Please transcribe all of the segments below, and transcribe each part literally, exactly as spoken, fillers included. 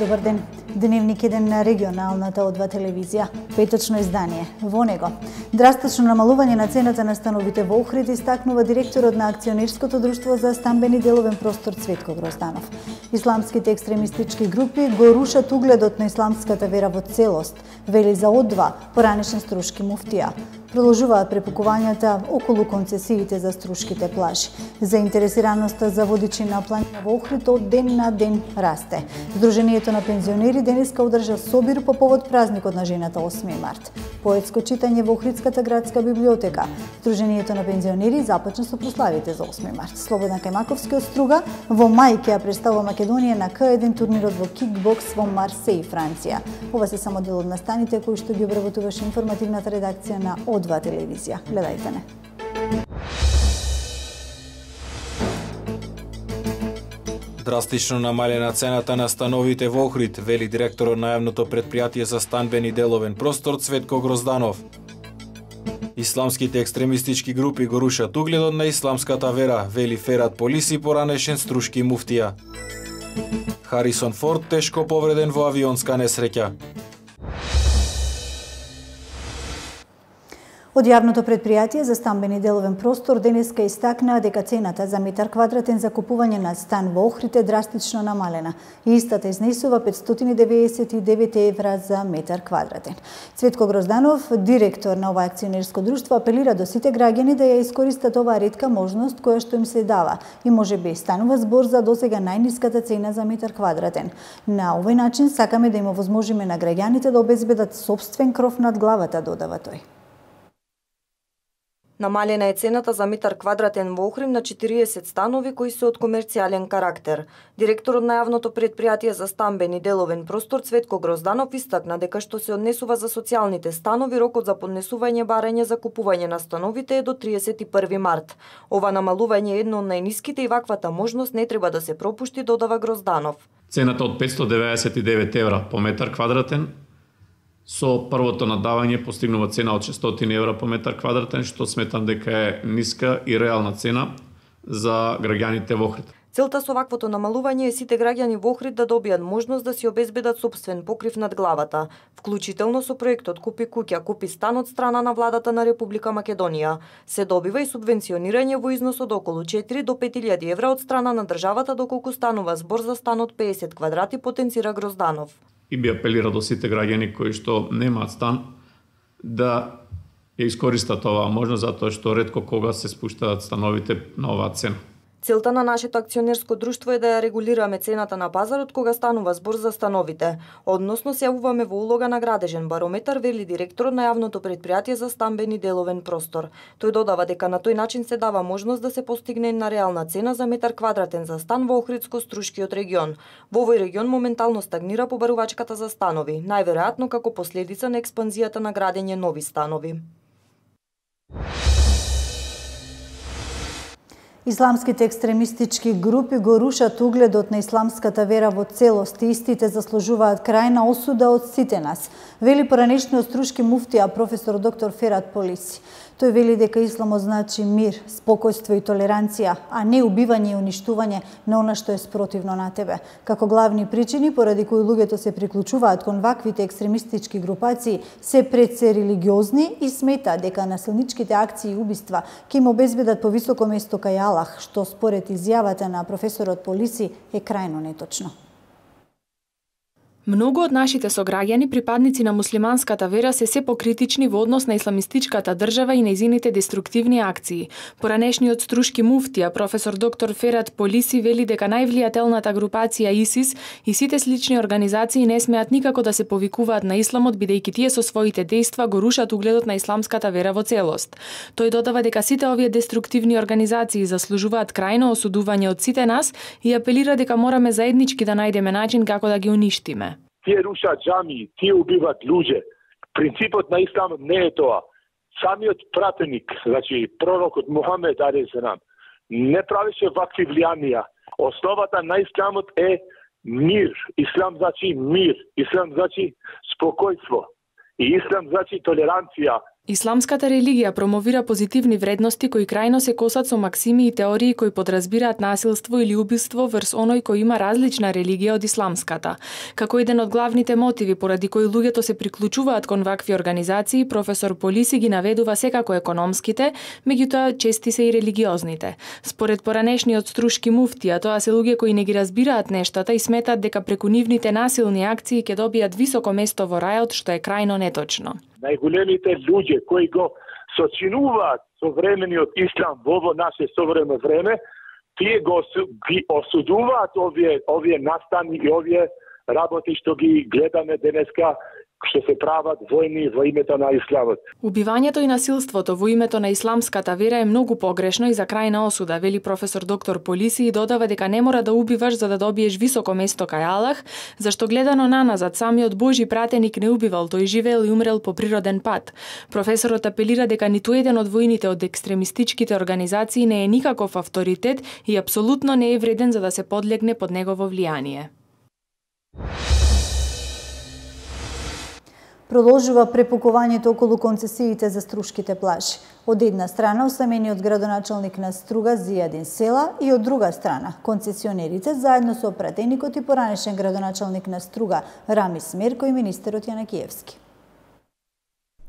Добар ден. Дневник еден на регионалната О два телевизија. Петочно издание. Во него драстично намалување на цената на становите во Охрид истакнува директорот на акционерското друштво за стамбени деловен простор Цветко Грозданов. Исламските екстремистички групи го рушат угледот на исламската вера во целост, вели за О два поранешен струшки муфтија. Продолжуваат препукувањата околу концесиите за струшките плажи. Заинтересираноста за водичи на планина во Охрид од ден на ден расте. Сдруженијето на пензионери денеска одржа собир по повод празникот на жената осми март. Поетско читање во Охридската градска библиотека. Сдруженијето на пензионери започна со прославите за осми март. Слободна Кајмаковски од Струга во мај ќе ја представува Македонија на К еден турнирот во кикбокс во Марсеј, Франција. Ова се само дел од настаните кои што ги обработуваше информативната редакција на О два телевизија. Гледајте не. Драстично намалена цената на становите во Охрид, вели директорот на јавното претпријатие за станбени деловен простор Цветко Грозданов. Исламските екстремистички групи го рушат угледот на исламската вера, вели Ферат Полиси, поранешен струшки муфтија. Харисон Форд тешко повреден во авионска несреќа. Од јавното претпријатие за стамбени деловен простор денеска истакнаа дека цената за метар квадратен за купување на стан во Охрид е драстично намалена и истата изнесува петстотини деведесет и девет евра за метар квадратен. Цветко Грозданов, директор на ова акционерско друштво, апелира до сите граѓани да ја искористат оваа ретка можност која што им се дава и можеби станува збор за досега најниската цена за метар квадратен. На овој начин сакаме да им овозможиме на граѓаните да обезбедат сопствен кров над главата, додава тој. Намалена е цената за метар квадратен во Охрид на четириесет станови кои се од комерцијален карактер. Директорот на јавното претпријатие за стамбени деловен простор Цветко Грозданов истакна дека што се однесува за социјалните станови, рокот за поднесување барање за купување на становите е до триесет и први март. Ова намалување е едно од најниските и ваквата можност не треба да се пропушти, додава Грозданов. Цената од петстотини деведесет и девет евра по метар квадратен со првото надавање постигнува цена од шестстотини евра по метар квадратен, што сметам дека е ниска и реална цена за граѓаните во Охрид. Целта со ваквото намалување е сите граѓани во Охрид да добијат можност да си обезбедат сопствен покрив над главата, вклучително со проектот Купи куќа, купи стан од страна на владата на Република Македонија. Се добива и субвенционирање во износ од околу четири до пет илјади евра од страна на државата доколку станува збор за стан од педесет квадрати, потенцира Грозданов. И би апелира до сите граѓани кои што немаат стан да ја искористат оваа можност, затоа што ретко кога се спуштаат становите на оваа цена. Целта на нашето акционерско друштво е да ја регулираме цената на пазарот кога станува збор за становите. Односно се јавуваме во улога на градежен барометар, вели директорот на јавното претпријатие за стамбени деловен простор. Тој додава дека на тој начин се дава можност да се постигне на реална цена за метар квадратен за стан во Охридско-Струшкиот регион. Во овој регион моментално стагнира побарувачката за станови, најверојатно како последица на експанзијата на градење нови станови. Исламските екстремистички групи го рушат угледот на исламската вера во целост и истите заслужуваат крајна осуда од сите нас, вели поранешниот струшки муфтија професор доктор Ферат Полиси. Тој вели дека исламот значи мир, спокојство и толеранција, а не убивање и уништување на она што е спротивно на тебе. Како главни причини поради кои луѓето се приклучуваат кон ваквите екстремистички групации се пред се религиозни и смета дека насилничките акции и убиства ќе им обезбедат повисоко место кај Аллах, што според изјавата на професорот Полиси е крајно неточно. Многу од нашите сограѓани, припадници на муслиманската вера, се се покритични во однос на исламистичката држава и нејзините деструктивни акции. Поранешниот струшки муфтија, професор доктор Ферат Полиси, вели дека највлијателната групација ИСИС и сите слични организации не смеат никако да се повикуваат на исламот, бидејќи тие со своите дејства го рушат угледот на исламската вера во целост. Тој додава дека сите овие деструктивни организации заслужуваат крајно осудување од сите нас и апелира дека мораме заеднички да најдеме начин како да ги уништиме. Тие рушат џамии, тие убиват луѓе. Принципот на исламот не е тоа. Самиот пратеник, значи пророкот Мухамед алейхиссалам, не правеше вакви влијанија. Основата на исламот е мир. Ислам значи мир. Ислам значи спокојство. И ислам значи толеранција. Исламската религија промовира позитивни вредности кои крајно се косат со максими и теории кои подразбираат насилство или убиство врз оној кој има различна религија од исламската. Како еден од главните мотиви поради кои луѓето се приклучуваат кон вакви организации, професор Полиси ги наведува секако економските, меѓутоа чести се и религиозните. Според поранешниот струшки муфтија, тоа се луѓе кои не ги разбираат нештата и сметат дека преку нивните насилни акции ќе добијат високо место во рајот, што е крајно неточно. Најголемите луѓе кои го сочинуваат современиот ислам во ово наше современо време, тие го ги осудуваат овие овие настани и овие работи што ги гледаме денеска, што се прават војни во името на исламот. Убивањето и насилството во името на исламската вера е многу погрешно и за крајна осуда, вели професор доктор Полиси и додава дека не мора да убиваш за да добиеш високо место кај Аллах, зашто гледано наназад самиот Божи пратеник не убивал, тој живеел и умрел по природен пат. Професорот апелира дека ниту еден од војните од екстремистичките организации не е никаков авторитет и апсолутно не е вреден за да се подлегне под негово влијание. Продолжува препукувањето околу концесиите за струшките плажи. Од една страна осамениот градоначалник на Струга Зијадин Села и од друга страна концесионерите заедно со пратеникот и поранешен градоначалник на Струга Рамис Мерко и министерот Јанакиевски.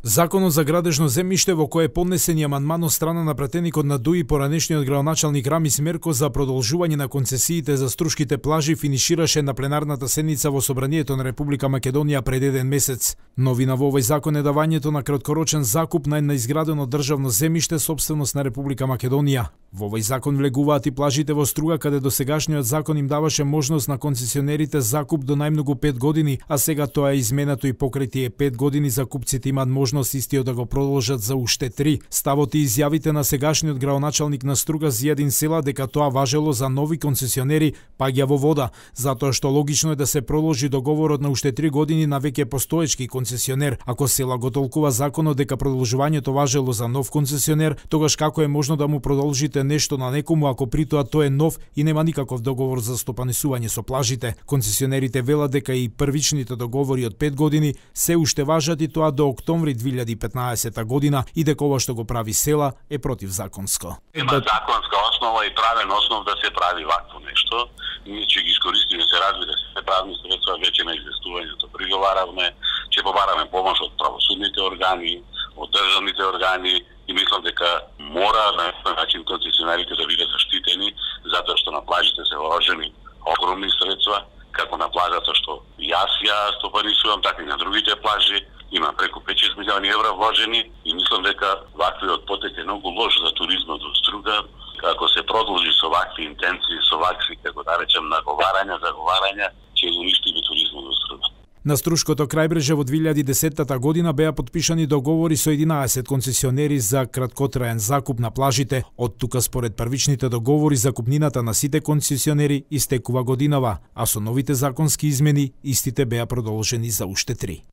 Законот за градежно земјиште во кој е поднесен и амандман од страна на пратеникот на ДУИ поранешниот градоначалник Рамис Мерко за продолжување на концесиите за струшките плажи финишираше на пленарната седница во Собранието на Република Македонија пред еден месец. Новина во овој закон е давањето на краткорочен закуп на неизградено државно земјиште собственост на Република Македонија. Во овој закон влегуваат и плажите во Струга, каде досегашниот закон им даваше можност на концесионерите закуп до најмногу пет години, а сега тоа е изменато и покрај тие пет години закупците имаат можност истиот да го продолжат за уште три. Ставот и изјавите на сегашниот градоначалник на Струга Зијадин Села дека тоа важело за нови концесионери паѓа во вода, затоа што логично е да се продолжи договорот на уште три години на веќе постоечки концесионер. Ако Села го толкува законот дека продолжувањето важело за нов концесионер, тогаш како е можно да му продолжите нешто на некому ако при тоа тој е нов и нема никаков договор за стопанисување со плажите? Концесионерите велат дека и првичните договори од пет години се уште важат и тоа до октомври две илјади и петнаесета година и дека ова што го прави Села е противзаконско. Има законска основа и правен основ да се прави вакво нешто. Ние ќе ги искористиме, се разбира се, правни средства веќе на известувањето. Приговаравме, ќе побараме помош од правосудните органи, од државните органи и мислам дека мора на некој начин концесионерите да бидат заштитени, затоа што на плажите се вложени огромни средства, како на плажата што јас ја стопанисувам, така и на другите плажи. Има преку пет-шест милиони евра вложени и мислам дека ваквиот потек е многу лош за туризмот во Струга. Ако се продолжи со вакви интенции, со вакви, како да речем, наговарања, заговарања, ќе го уништиме туризмот во Струга. На Струшкото крајбреже во две илјади и десетата година беа подпишани договори со единаесет концесионери за краткотраен закуп на плажите. Од тука според првичните договори закупнината на сите концесионери истекува годинава, а со новите законски измени истите беа продолжени за уште три.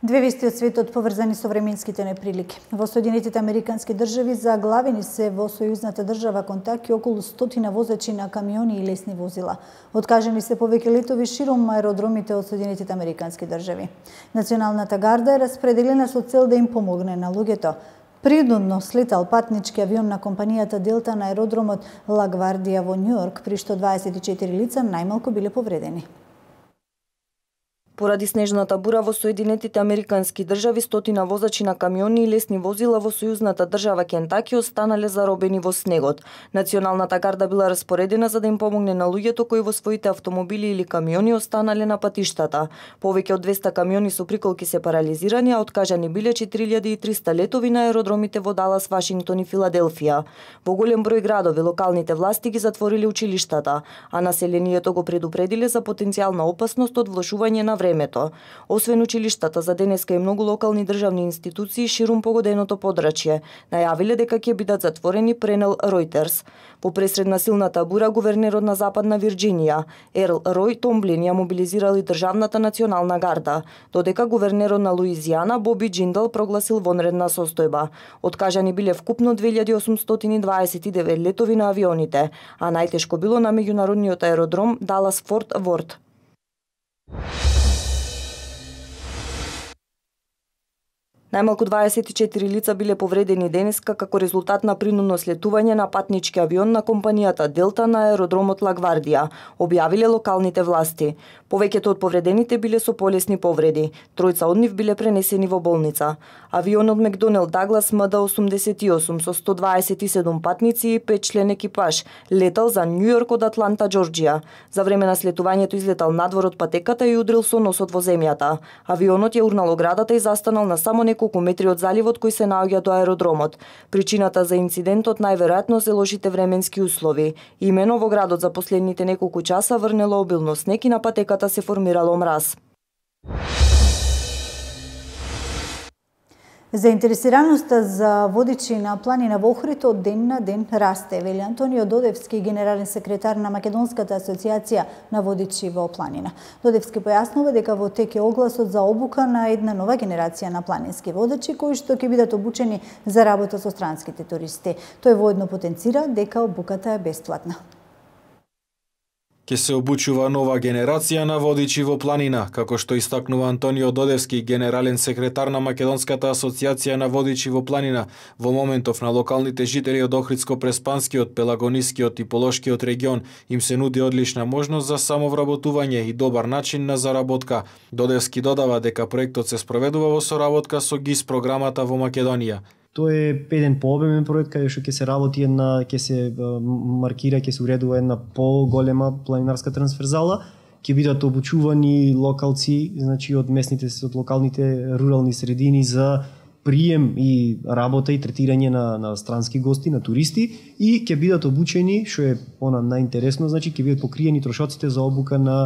Две вести од светот поврзани со временските неприлики. Во Соединетите Американски држави заглавени се во сојузната држава Контаки околу стотина возачи на камиони и лесни возила. Откажани се повеќе летови широм аеродромите од Соединетите Американски држави. Националната гарда е распределена со цел да им помогне на луѓето. Принудно слетал патнички авион на компанијата Делта на аеродромот Ла Гвардија во Њујорк, при што дваесет и четири лица најмалку биле повредени. Поради снежната бура во Соединетите Американски држави, стотина возачи на камиони и лесни возила во сојузната држава Кентаки останале заробени во снегот. Националната гарда била распоредена за да им помогне на луѓето кои во своите автомобили или камиони останале на патиштата. Повеќе од двеста камиони со приколки се парализирани, а откажани биле четири илјади и триста летови на аеродромите во Далас, Вашингтон и Филаделфија. Во голем број градови локалните власти ги затвориле училиштата, а населението го предупредиле за потенцијална опасност од влошување на времето. Освен училиштата, за денеска и многу локални државни институции ширум погоденото подрачје најавиле дека ќе бидат затворени, пренел Reuters. Во пресред на силната бура, гувернерот на Западна Вирџинија, Ерл Рој Томблин, ја мобилизирал и државната национална гарда, додека гувернерот на Луизијана, Боби Джиндал, прогласил вонредна состојба. Откажани биле вкупно две илјади осумстотини дваесет и девет летови на авионите, а најтешко било на меѓународниот аеродром Далас Форт Ворт. Најмалку дваесет и четири лица биле повредени денеска како резултат на принудно слетување на патнички авион на компанијата Делта на аеродромот Лагвардија, објавиле локалните власти. Повеќето од повредените биле со полесни повреди. Тројца од нив биле пренесени во болница. Авионот Макдоналд Даглас М Д осумдесет и осум со сто дваесет и седум патници и пет член екипаж летал за Њу Јорк од Атланта, Џорџија. За време на слетувањето излетал надвор од патеката и удрил со носот во земјата. Авионот ја урнал оградата и застанал на само неколку метри од заливот кој се наоѓа до аеродромот. Причината за инцидентот најверојатно се лошите временски услови. Имено во градот за последните неколку часа врнело обилно снег и на патеката се формирало мраз. Заинтересираноста за водичи на планина во Охрид од ден на ден расте, вели Антонио Додевски, генерален секретар на Македонската асоциација на водичи во планина. Додевски појаснува дека во тек е огласот за обука на една нова генерација на планински водачи кои што ќе бидат обучени за работа со странските туристи. Тој воедно потенцира дека обуката е бесплатна. Ке се обучува нова генерација на водичи во планина, како што истакнува Антонио Додевски, генерален секретар на Македонската асоциација на водичи во планина. Во моментов на локалните жители од Охридско-Преспанскиот, Пелагонискиот и Полошкиот регион им се нуди одлична можност за самовработување и добар начин на заработка. Додевски додава дека проектот се спроведува во соработка со ГИС програмата во Македонија. Тој е еден пообемен проект каде што ќе се работи една, ќе се маркира, ќе се уредува една поголема планинарска трансферзала, ќе бидат обучувани локалци, значи од местните, од локалните рурални средини за прием и работа и третирање на, на странски гости, на туристи, и ќе бидат обучени, што е она најинтересно, значи ќе бидат покриени трошоците за обука на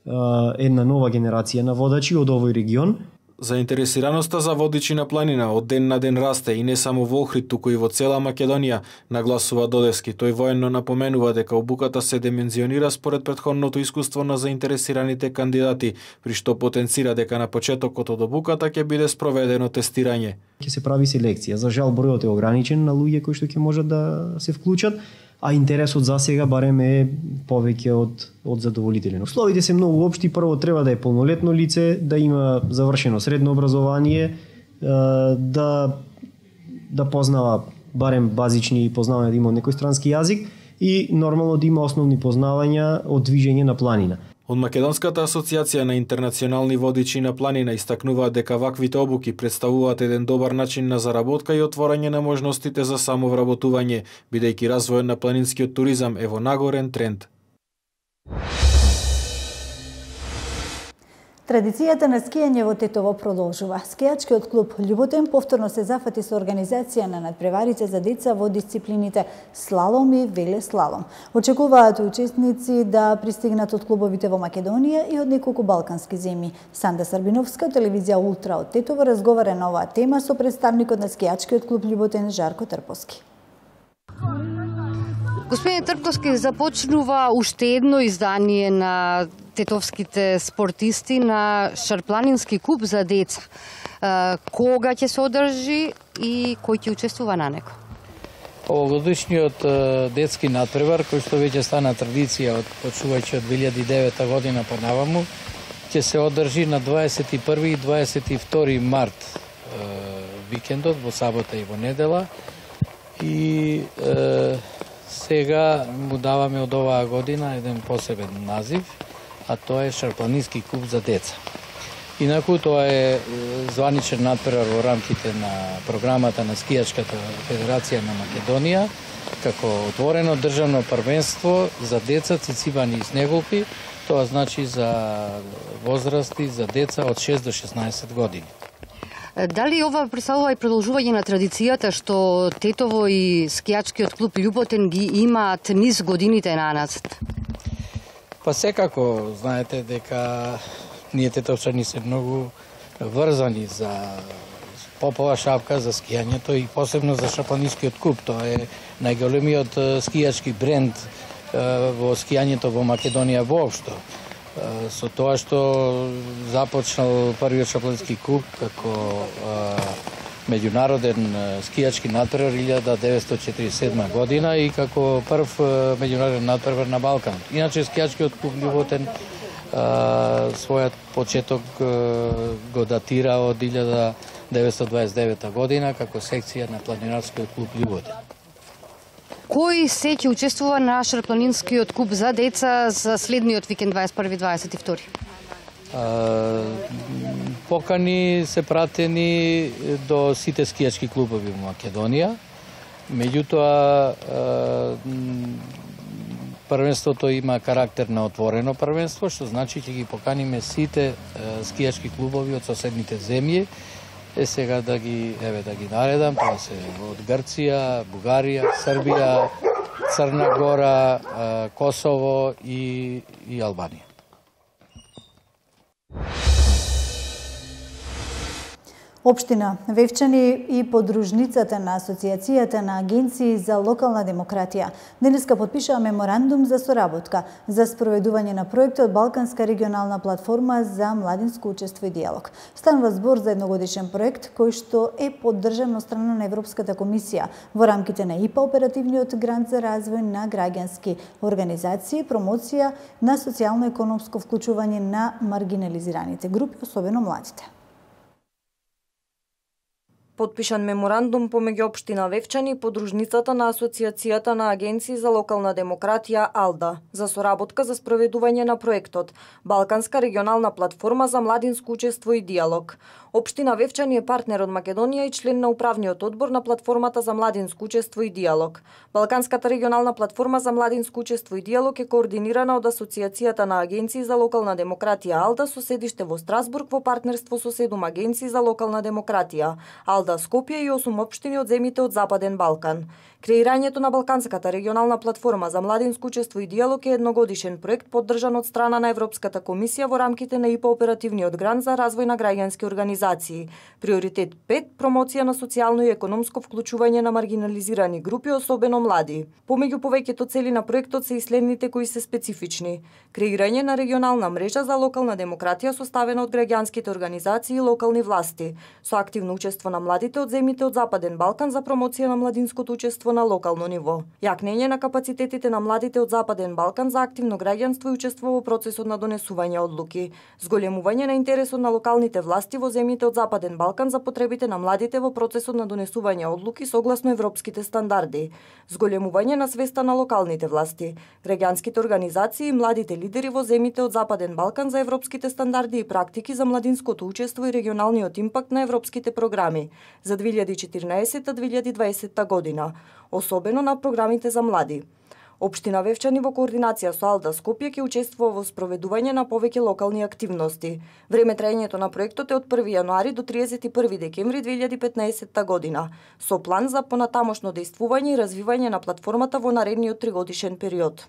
а, една нова генерација на водачи од овој регион. Заинтересираноста за водичи на планина од ден на ден расте и не само во Охрид, туку и во цела Македонија, нагласува Додевски. Тој военно напоменува дека обуката се димензионира според претходното искуство на заинтересираните кандидати, при што потенцира дека на почетокот од обуката ќе биде спроведено тестирање. Ќе се прави селекција. За жал бројот е ограничен на луѓе кои што ќе можат да се вклучат, а интересот за сега барем е повеќе од од задоволителен. Условите се многу општи. Прво треба да е полнолетно лице, да има завршено средно образование, да да познава барем базични познавања, да има некој странски јазик и нормално да има основни познавања од движење на планина. Од Македонската асоциација на интернационални водичи на планина истакнуваат дека ваквите обуки представуваат еден добар начин на заработка и отворање на можностите за самовработување, бидејќи развојот на планинскиот туризам е во нагорен тренд. Традицијата на скијање во Тетово продолжува. Скијачкиот клуб Љуботен повторно се зафати со организација на надпреварите за деца во дисциплините слалом и велеслалом. Очекуваат учесници да пристигнат од клубовите во Македонија и од неколку балкански земји. Санда Сарбиновска, телевизија Ултра од Тетово, разговара на оваа тема со представникот на скијачкиот клуб Љуботен Жарко Трпоски. Господин Трпковски, започнува уште едно издание на тетовските спортисти на Шарпланински клуб за деца. Кога ќе се одржи и кој ќе учествува на него? Овогодишниот детски надпревар, кој што веќе стана традиција од почувајќи од две илјади и девета година па наваму, ќе се одржи на дваесет и први и дваесет и втори март викендот, во сабота и во недела. И е, сега му даваме од оваа година еден посебен назив, а тоа е Шарпланински клуб за деца. Инаку тоа е званичен надпревар во рамките на програмата на Скијачката федерација на Македонија, како отворено државно првенство за деца цицибани и снеголки, тоа значи за возрасти за деца од шест до шеснаесет години. Дали ова представува и продолжување на традицијата што Тетово и скијачкиот клуб Љуботен ги имаат низ годините наназад? Па секако, знаете дека ние тетовчани се многу врзани за попова шапка, за скијањето и посебно за Шарпланинскиот клуб. Тоа е најголемиот скијачки бренд во скијањето во Македонија воопшто. Со тоа што започнал првиот Шарпланински клуб како меѓународен скијачки надпревар илјада деветстотини четиридесет и седма година и како прв меѓународен надпревар на Балкан. Иначе скијачкиот клуб Љуботен својот почеток го датира од илјада деветстотини дваесет и девета година како секција на планинарскиот клуб Љубоден. Кој се ќе учествува на Шарпланинскиот куп за деца за следниот викенд дваесет и први дваесет и втори? Покани се пратени до сите скијачки клубови во Македонија. Меѓутоа, првенството има карактер на отворено првенство, што значи ќе ги поканиме сите скијачки клубови од соседните земји. Е сега да ги еве да ги наредам, тоа се од Грција, Бугарија, Србија, Црна Гора, Косово и и Албанија. Општина Вевчани и подружницата на Асоциацијата на агенции за локална демократија денеска потпишаа меморандум за соработка за спроведување на проектот Балканска регионална платформа за младинско учество и диалог. Станува збор за едногодишен проект кој што е поддржан од страна на Европската комисија во рамките на ИПА, оперативниот грант за развој на граѓански организации, промоција на социјално-економско вклучување на маргинализираните групи, особено младите. Потпишан меморандум помеѓу општина Вевчани и подружницата на Асоциацијата на агенции за локална демократија АЛДА за соработка за спроведување на проектот Балканска регионална платформа за младинско учество и диалог. Општина Вевчани е партнер од Македонија и член на управниот одбор на платформата за младинско учество и диалог. Балканската регионална платформа за младинско учество и диалог е координирана од Асоциацијата на агенции за локална демократија АЛДА со седиште во Страсбург во партнерство со седум агенции за локална демократија АЛДА Скопје и осум општини од земјите од Западен Балкан. Креирањето на Балканската регионална платформа за младинско учество и диалог е едногодишен проект поддржан од страна на Европската комисија во рамките на ИПА, оперативниот грант за развој на граѓански организации. Приоритет пет – промоција на социјално и економско вклучување на маргинализирани групи, особено млади. Помеѓу повеќето цели на проектот се и следните кои се специфични: креирање на регионална мрежа за локална демократија составена од граѓанските организации и локални власти, со активно учество на младите од земјите од Западен Балкан за промоција на младинското учество на локално ниво. Јакнење на капацитетите на младите од Западен Балкан за активно граѓанство и учество во процесот на донесување одлуки. Зголемување на интересот на локалните власти во земјите од Западен Балкан за потребите на младите во процесот на донесување одлуки согласно европските стандарди. Зголемување на свеста на локалните власти, граѓанските организации и младите лидери во земјите од Западен Балкан за европските стандарди и практики за младинското учество и регионалниот импакт на европските програми за две илјади и четирнаесета - две илјади и дваесета година, особено на програмите за млади. Општина Вевчани во координација со АЛДА Скопје ќе учествува во спроведување на повеќе локални активности. Време траењето на проектот е од први јануари до триесет и први декември две илјади и петнаесета година, со план за понатамошно дејствување и развивање на платформата во наредниот тригодишен период.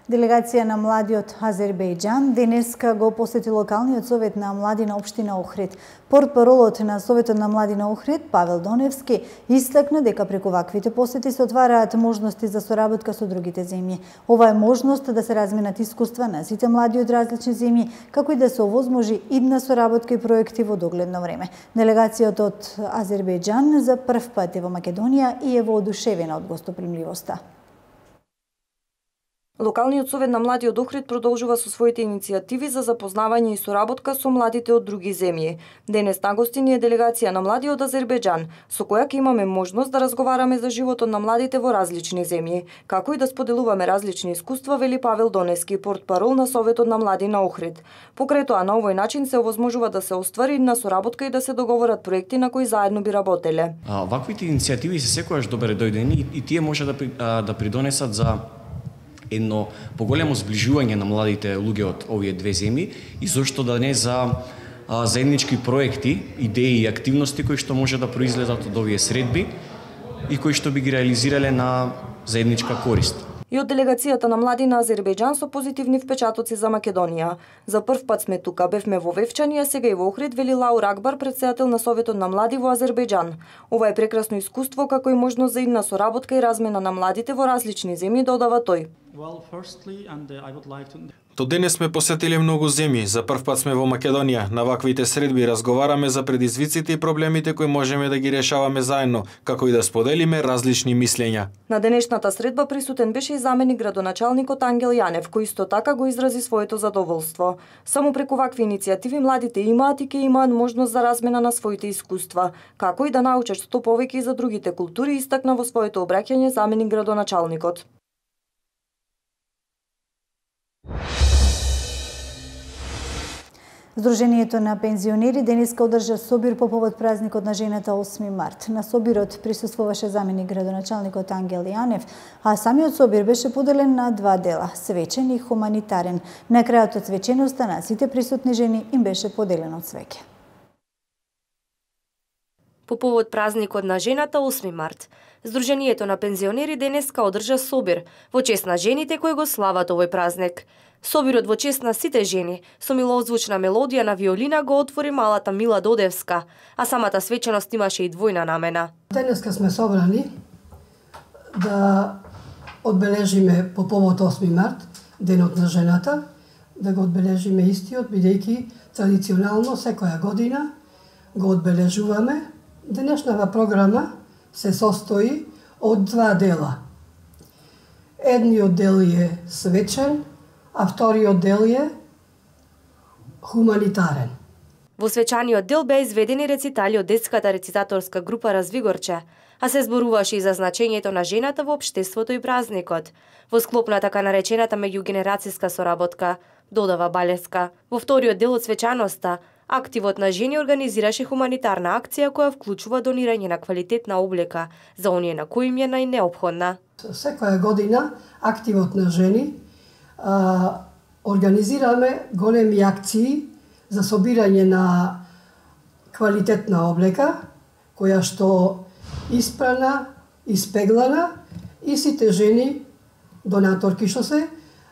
Делегација на млади од Азербејџан денеска го посети локалниот совет на млади на општина Охрид. Портпаролот на Советот на млади на Охрид, Павел Доневски, истакна дека преку ваквите посети се отвараат можности за соработка со другите земји. Ова е можност да се разменат искуства на сите млади од различни земји, како и да се овозможи идна соработка и проекти во догледно време. Делегацијата од Азербејџан за прв пат е во Македонија и е воодушевена од гостопримливоста. Локалниот совет на млади од Охрид продолжува со своите иницијативи за запознавање и соработка со младите од други земји. Денес на гостини е делегација на млади од Азербејџан, со која ќе имаме можност да разговараме за животот на младите во различни земји, како и да споделуваме различни искуства, вели Павел Доневски, портпарол на Советот на млади на Охрид. Покрај тоа, на овој начин се овозможува да се оствари на соработка и да се договорат проекти на кои заедно би работеле. А, ваквите иницијативи се секогаш добре дојдени и, и тие може да, да придонесат за едно поголемо зближување на младите луѓе од овие две земји и зошто да не за а, заеднички проекти, идеи и активности кои што може да произлезат од овие средби и кои што би ги реализирале на заедничка корист. И од делегацијата на млади на Азербејџан со позитивни впечатоци за Македонија. За прв пат сме тука, бевме во Вевчани, а сега и во Охрид, вели Лаур Акбар, председател на Советот на млади во Азербејџан. Ова е прекрасно искуство, како и можност за идна соработка и размена на младите во различни земји, додава тој. До денес сме посетили многу земји, за прв пат сме во Македонија. На ваквите средби разговараме за предизвиците и проблемите кои можеме да ги решаваме заедно, како и да споделиме различни мислења. На денешната средба присутен беше и заменик градоначалникот Ангел Јанев, кој исто така го изрази своето задоволство. Само преку вакви иницијативи младите имаат и ќе имаат можност за размена на своите искуства, како и да научат што повеќе и за другите култури, истакна во своето обраќање заменик градоначалникот. Сдруженијето на пензионери денеска одржа собир по повод празникот на жената осми март. На собирот присуствуваше заменик градоначалникот Ангел Јанев, а самиот собир беше поделен на два дела – свечен и хуманитарен. На крајот од свеченоста на сите присутни жени им беше поделено цвеќе. По повод празникот на жената осми март, Сдруженијето на пензионери денеска одржа собир во чест на жените кои го слават овој празник. Собирот во чест на сите жени со милозвучна мелодија на виолина го отвори малата Мила Додевска, а самата свеченост имаше и двојна намена. Денеска сме собрани да одбележиме по повод осми март, денот на жената, да го одбележиме истиот, бидејќи традиционално секоја година го одбележуваме. Денешната програма се состои од два дела. Едниот дел е свечен, а вториот дел е хуманитарен. Во свечаниот дел беа изведени рецитали од детската рецитаторска група Развигорче, а се зборуваше и за значењето на жената во општеството и празникот. Во склоп на така наречената меѓугенерацијска соработка, додава Балеска, во вториот дел од свечаноста, активот на жени организираше хуманитарна акција која вклучува донирање на квалитетна облека за оние на кои им е најнеопходна. Секоја година активот на жени а, организираме големи акции за собирање на квалитетна облека која што испрана, испеглана и сите жени донаторки што се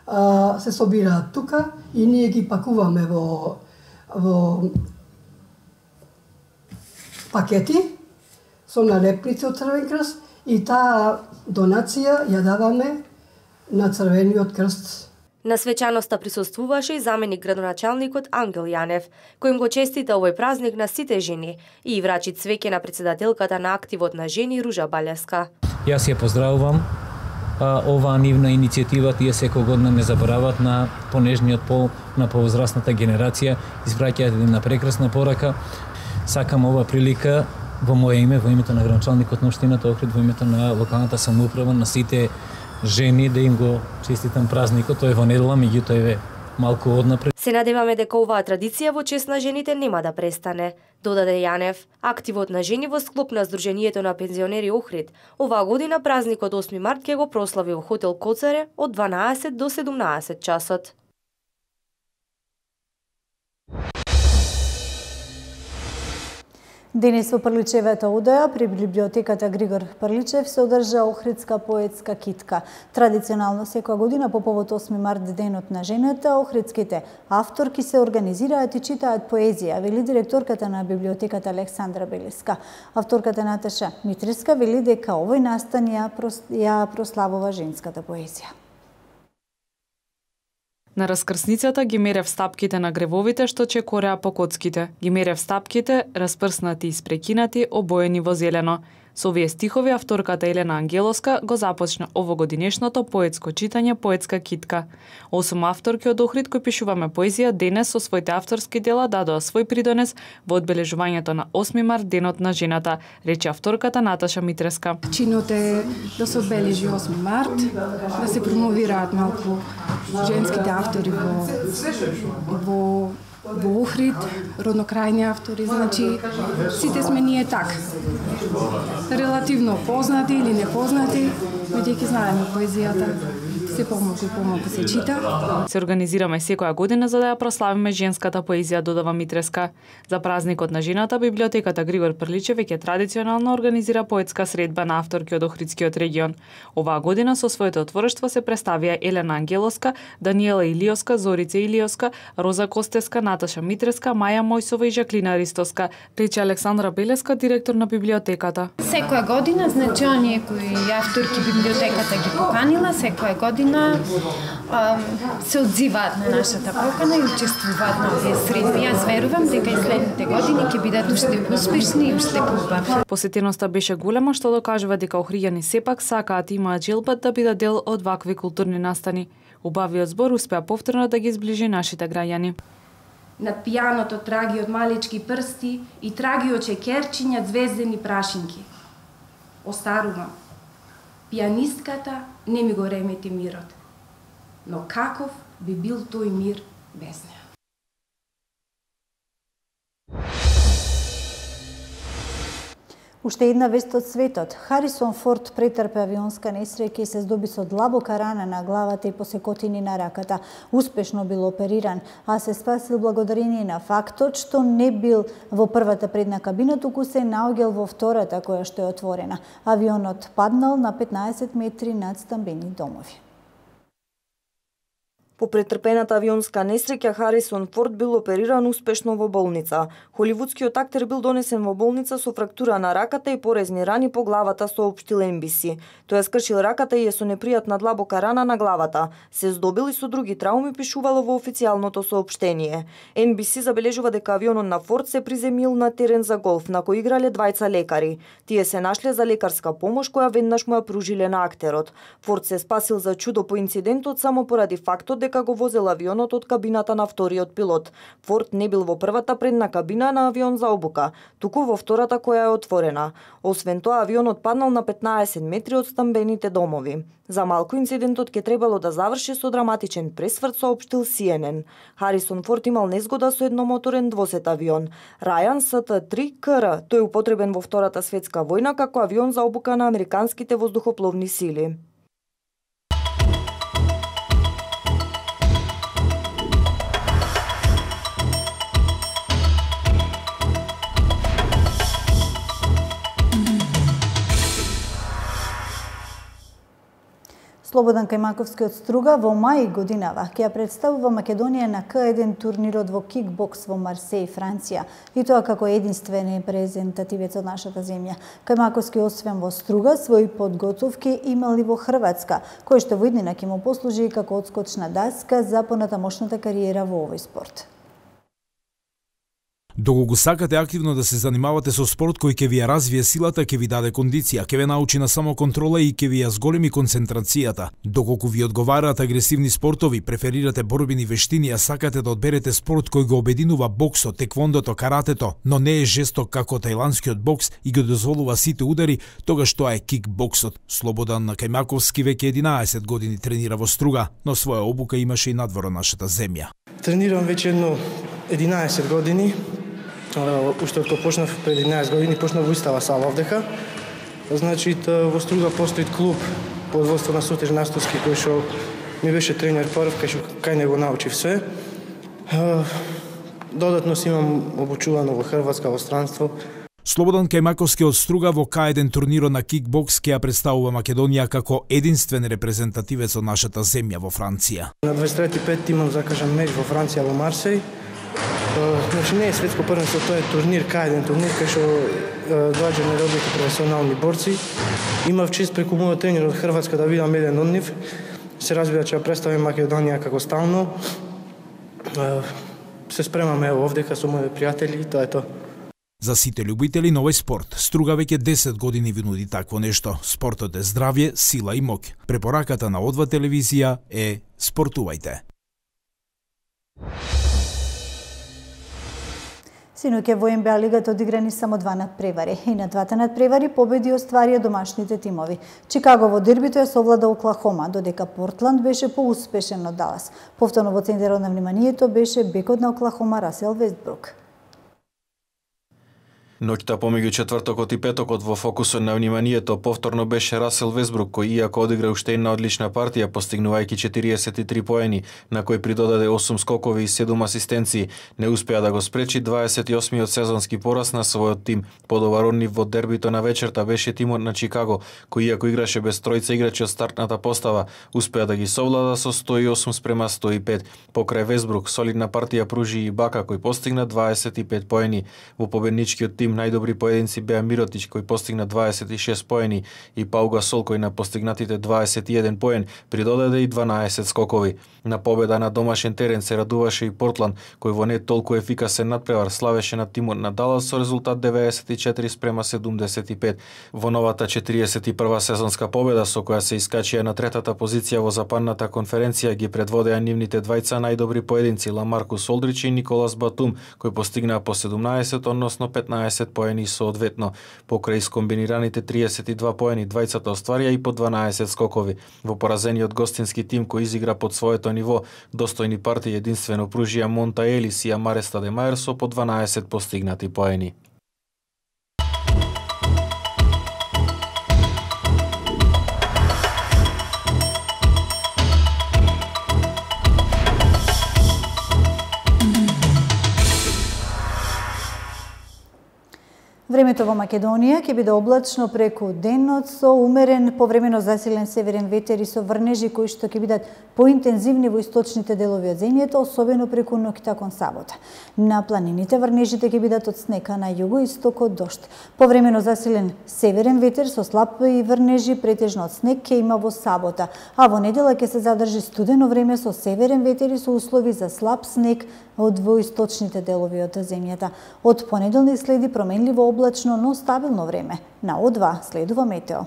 а, се собираат тука и ние ги пакуваме во во пакети со налепници од Црвен крст и таа донација ја даваме на Црвениот крст. На свечаноста присуствуваше и заменик градоначалникот Ангел Јанев, кој им го честита овој празник на сите жени и врачи цвеќе на председателката на активот на жени Ружа Балеска. Јас ја поздравувам а, оваа нивна иницијатива, тие секој година не заборават на понежниот пол, на повозрастната генерација, испраќаат една прекрасна порака. Сакам ова прилика во моје име, во името на градоначалникот на општината Охрид, во името на локалната самоуправа, на сите жени да им го честитам празникот. Тој е во недела, меѓутоа е малку однапред. Се надеваме дека оваа традиција во чест на жените нема да престане, додаде Јанев. Активот на жени во склоп на Сдруженијето на пензионери Охрид оваа година празникот осми март ќе го прослави во хотел Коцаре од дванаесет до седумнаесет часот. Денес во Прличевата одоја при библиотеката Григор Прличев се одржа Охридска поетска китка. Традиционално секоја година по повод осми март, денот на жената, охридските авторки се организираат и читаат поезија, вели директорката на библиотеката Александра Белеска. Авторката Наташа Митриска вели дека овој настан ја, прос... ја прославува женската поезија. На раскрсницата ги мерев стапките на гревовите што чекореа по коцките. Ги мерев стапките, распрснати и спрекинати, обоени во зелено. Со овие стихови авторката Елена Ангелоска го започна овогодинешното поетско читање Поетска китка. Осум авторки од Охрид кои пишуваме поезија денес со своите авторски дела дадоа свој придонес во одбележувањето на осми март, денот на жената, рече авторката Наташа Митреска. Чинот е да се одбележи осми март, да се промовираат малку женските автори во во во Охрид, роднокрајни автори, значи сите сме ние така. Релативно познати или непознати, бидејќи знаеме поезијата, се помалку и помалку се чита. Се организираме секоја година за да ја прославиме женската поезија, додава Митреска. За празникот на жената, библиотеката Григор Прличев веќе традиционално организира поетска средба на авторки од Охридскиот регион. Оваа година со своето отворештво се представија Елена Ангелоска, Даниела Илиоска, Зорица Илиоска, Роза Костеска, Наташа Митреска, Маја Мојсова и Жаклина Ристовска, рече Александра Белеска, директор на библиотеката. Секоја година, значи оние кои авторки библиотеката ги поканила, секоја година се одзиваат на нашата покана и учествуваат на овие средби. Јас верувам дека и следните години ќе бидат уште успешни и уште поубави. Посетеноста беше голема, што докажува дека охриѓани сепак сакаат и имаат желбат да бидат дел од вакви културни настани. Убавиот збор успеа повторно да ги зближи нашите граѓани. Над пијаното траги од малечки прсти и траги од чекерчиња звездени прашинки. Остарувам. Пијанистката не ми го ремети мирот. Но каков би бил тој мир без неа? Уште една вест од светот. Харисон Форд претрпе авионска несреќа и се здоби со длабока рана на главата и посекотини на раката. Успешно бил опериран, а се спасил благодарение на фактот што не бил во првата предна кабина, туку се наоѓал во втората која што е отворена. Авионот паднал на петнаесет метри над стамбени домови. По претрпената авионска несреќа Харисон Форд бил опериран успешно во болница. Холивудскиот актер бил донесен во болница со фрактура на раката и порезни рани по главата, соопштил Ен Би Си. Тој скршил раката и е со непријатна длабока рана на главата. Се здобил и со други трауми, пишувало во официјалното соопштение. Ен Би Си забележува дека авионот на Форд се приземил на терен за голф на кој играле двајца лекари. Тие се нашле за лекарска помош која веднаш му ја пружиле на актерот. Форд се спасил за чудо по инцидентот само поради фактот дека го возел авионот од кабината на вториот пилот. Форд не бил во првата предна кабина на авион за обука, туку во втората која е отворена. Освен тоа, авионот паднал на петнаесет метри од стамбените домови. За малку инцидентот ќе требало да заврши со драматичен пресврт, соопштил Си Ен Ен. Харисон Форд имал незгода со едномоторен двосет авион. Рајан С Т три К Р. Тој употребен во Втората светска војна како авион за обука на американските воздухопловни сили. Слободан Кајмаковски од Струга во мај годинава ќе ја представува Македонија на К еден турнирот во кикбокс во Марсеј, Франција, и тоа како единствен репрезентативец од нашата земја. Кајмаковски освен во Струга, своји подготовки имал и во Хрватска, кој што во иднина ќе му послужи како одскочна даска за понатамошната кариера во овој спорт. Доколку сакате активно да се занимавате со спорт кој ќе ви ја развие силата, ќе ви даде кондиција, ќе ве научи на самоконтрола и ќе ви ја зголеми концентрацијата. Доколку ви одговараат агресивни спортови, преферирате борбени вештини, а сакате да одберете спорт кој го обединува боксот, теквондото, каратето, но не е жесток како тајландскиот бокс и го дозволува сите удари, тогаш тоа е кикбоксот. Слободан Кајмаковски веќе единаесет години тренира во Струга, но своја обука имаше и надвор од нашата земја. Тренирам веќе едно единаесет години. Уште од кога почнав пред единаесет години, почнав во истава сала овдека. Значи, во Струга постои клуб под водство на Сотир Настовски, кој што ми беше тренер прв, кај што кај него научив све. Додатно си имам обучувано во Хрватска, во странство. Слободан Кајмаковски од Струга во К еден турнирот на кикбокс ќе ја представува Македонија како единствен репрезентативец од нашата земја во Франција. На дваесет трети пет имам закажан меч во Франција, во Марсеј. Значи не е светско првенство, тоа е турнир, К еден турнир, кај што доаѓа неробите професионални борци. Имав чест преку мојот тренер од Хрватска да видам еден од нив. Се разбира че ја представим Македонија како стално. Се спремаме ево овдека со мои пријатели и тоа е тоа. За сите љубители на овој спорт, Струга веќе десет години ви нуди такво нешто. Спортот е здравје, сила и моќ. Препораката на О два телевизија е спортувајте. Синоќа во Н Б А лигата одиграни само два надпревари и на двата надпревари победи остварија домашните тимови. Чикаго во дербито ја совлада Оклахома, додека Портланд беше поуспешен од Далас. Повторно во центарот на вниманието беше бекот на Оклахома Расел Вестбрук. Ноќта помеѓу четвртокот и петокот во фокусот на вниманието повторно беше Расел Вестбрук, кој иако одигра уште една одлична партија, постигнувајќи четириесет и три поени, на кој придодаде осум скокови и седум асистенции, не успеа да го спречи дваесет и осмиот сезонски пораз на својот тим. Подобар од нив во дербито на вечерта беше тимот на Чикаго, кој иако играше без тројца играчи од стартната постава, успеа да ги совлада со сто и осум спрема сто и пет. Покрај Вестбрук, солидна партија пружи и Бака, кој постигна дваесет и пет поени. Во победничкиот тим Меѓутим, најдобри поединци беа Миротич кој постигна дваесет и шест поени и Пау Гасол кој на постигнатите дваесет и еден поен придодаде и дванаесет скокови. На победа на домашен терен се радуваше и Портланд кој во не толку ефикасен надпревар славеше над тимот на Далас со резултат деветдесет и четири спрема седумдесет и пет. Во новата четириесет и прва сезонска победа со која се искачија на третата позиција во западната конференција ги предводеа нивните двајца најдобри поединци Ламаркус Олдрич и Николас Батум кои постигнаа по седумнаесет односно петнаесет поени соодветно. Покрај скомбинираните триесет и два поени двајцата остварија и по дванаесет скокови. Во поразениот гостински тим кој изигра под своето ниво, достојни партии единствено пружија Монта Елис и Амаре Стадемајер со по дванаесет постигнати поени. Времето во Македонија ќе биде облачно преку денот со умерен повремено засилен северен ветер и со врнежи кои што ќе бидат поинтензивни во источните делови од земјата, особено преку ноќта кон сабота. На планините врнежите ќе бидат од снег, а на југоистокот дожд. Повремено засилен северен ветер со слаб и врнежи претежно од снег ќе има во сабота, а во недела ќе се задржи студено време со северен ветер и со услови за слаб снег од во источните делови од земјата. Од понеделник следи променливо облачно, но стабилно време. На О два следува метео.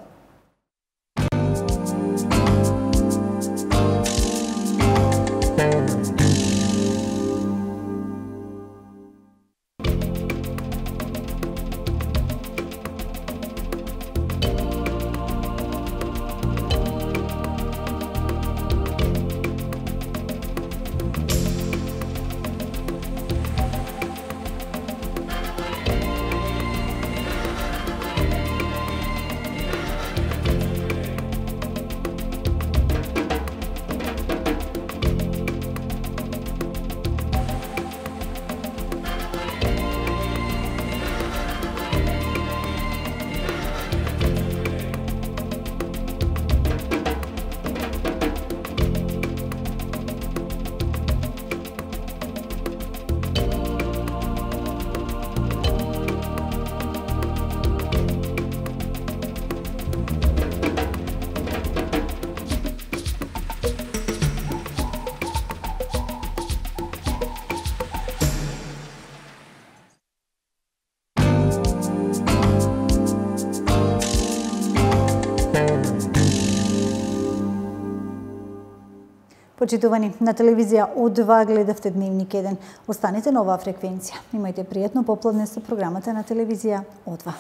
Почитувани, на телевизија О два гледавте Дневник еден. Останете на оваа фреквенција. Имајте пријатно попладне со програмата на телевизија О два.